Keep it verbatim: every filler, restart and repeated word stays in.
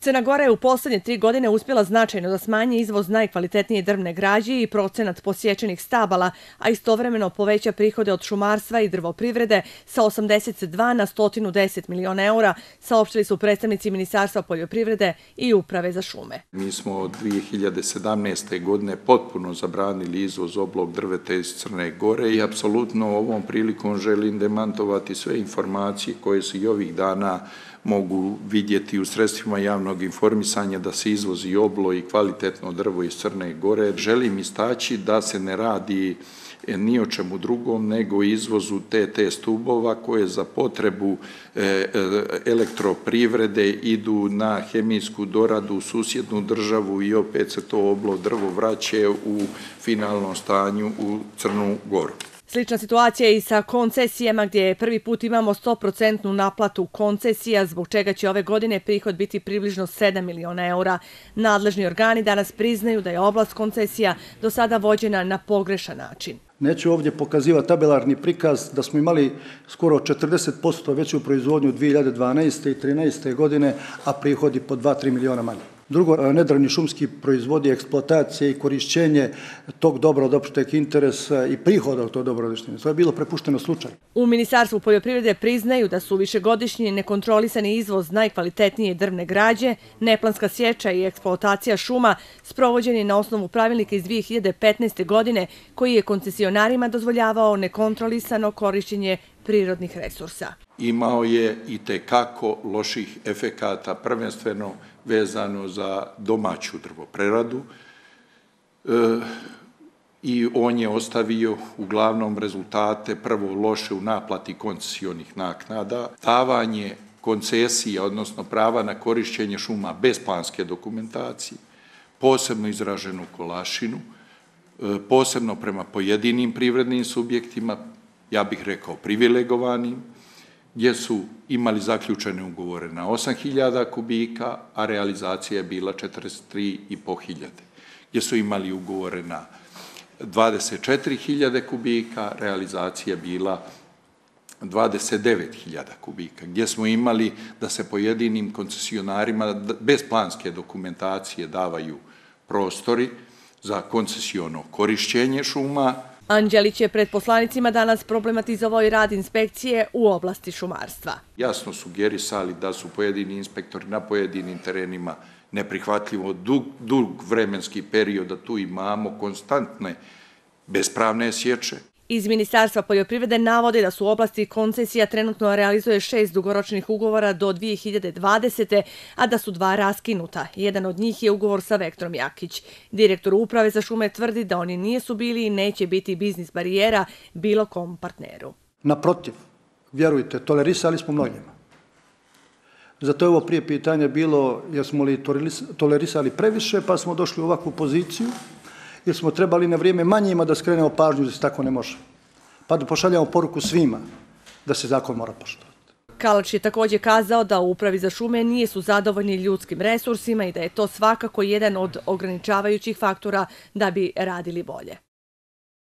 Crna Gora je u posljednje tri godine uspjela značajno da smanji izvoz najkvalitetnije drvne građe i procenat posječenih stabala, a istovremeno poveća prihode od šumarstva i drvoprivrede sa osamdeset dva na sto deset miliona eura, saopštili su predstavnici Ministarstva poljoprivrede i Uprave za šume. Mi smo od dvije hiljade sedamnaeste. godine potpuno zabranili izvoz oblog drveta iz Crne Gore i apsolutno ovom prilikom želim demantovati sve informacije koje se i ovih dana mogu vidjeti u sredstvima javnog informisanja da se izvozi oblo i kvalitetno drvo iz Crne Gore. Želim istaći da se ne radi ni o čemu drugom nego izvozu te te stubova koje za potrebu elektroprivrede idu na hemijsku doradu u susjednu državu i opet se to oblo drvo vraća u finalnom stanju u Crnu Goru. Slična situacija je i sa koncesijama gdje prvi put imamo sto posto naplatu koncesija, zbog čega će ove godine prihod biti približno sedam miliona eura. Nadležni organi danas priznaju da je oblast koncesija do sada vođena na pogrešan način. Neću ovdje pokazivati tabelarni prikaz da smo imali skoro četrdeset posto veću proizvodnju dvije hiljade dvanaeste. i trinaeste. godine, a prihodi po dva do tri miliona manje. Drugo, nedrvni šumski proizvodi, eksploatacije i korišćenje tog dobra od opšteg interesa i prihoda od tog dobra od opšteg interesa. To je bilo prepušteno slučaju. U Ministarstvu poljoprivrede priznaju da su višegodišnji nekontrolisani izvoz najkvalitetnije drvne građe, neplanska sječa i eksploatacija šuma sprovođeni na osnovu pravilnika iz dvije hiljade petnaeste. godine koji je koncesionarima dozvoljavao nekontrolisano korišćenje prirodnih resursa. Imao je i tekako loših efekata, prvenstveno vezano za domaću drvopreradu e, i on je ostavio uglavnom rezultate prvo loše u naplati koncesijonih naknada, davanje koncesija, odnosno prava na korišćenje šuma bez planske dokumentacije, posebno izraženu kolašinu, e, posebno prema pojedinim privrednim subjektima, ja bih rekao privilegovanim, gdje su imali zaključene ugovore na osam hiljada kubika, a realizacija je bila četrdeset tri i po hiljade. Gdje su imali ugovore na dvadeset četiri hiljade kubika, realizacija je bila dvadeset devet hiljada kubika. Gdje smo imali da se pojedinim koncesionarima bez planske dokumentacije davaju prostori za koncesijono korišćenje šuma. Anđelić je pred poslanicima danas problematizovao i rad inspekcije u oblasti šumarstva. Jasno sugerisali da su pojedini inspektori na pojedinim terenima neprihvatljivo dug, dug vremenski period, da tu imamo konstantne bespravne sječe. Iz Ministarstva poljoprivrede navode da su u oblasti koncesija trenutno realizuje šest dugoročnih ugovora do dvije hiljade dvadesete. a da su dva raskinuta. Jedan od njih je ugovor sa Vektrom Jakić. Direktor Uprave za šume tvrdi da oni nisu bili i neće biti biznis barijera bilo kom partneru. Naprotiv, vjerujte, tolerisali smo mnogima. Zato je ovo prije pitanje bilo jer smo li tolerisali previše pa smo došli u ovakvu poziciju, jer smo trebali na vrijeme manjima da skrenemo pažnju da se tako ne može. Pa da pošaljamo poruku svima da se zakon mora poštovati. Kalač je također kazao da u Upravi za šume nisu zadovoljni ljudskim resursima i da je to svakako jedan od ograničavajućih faktora da bi radili bolje.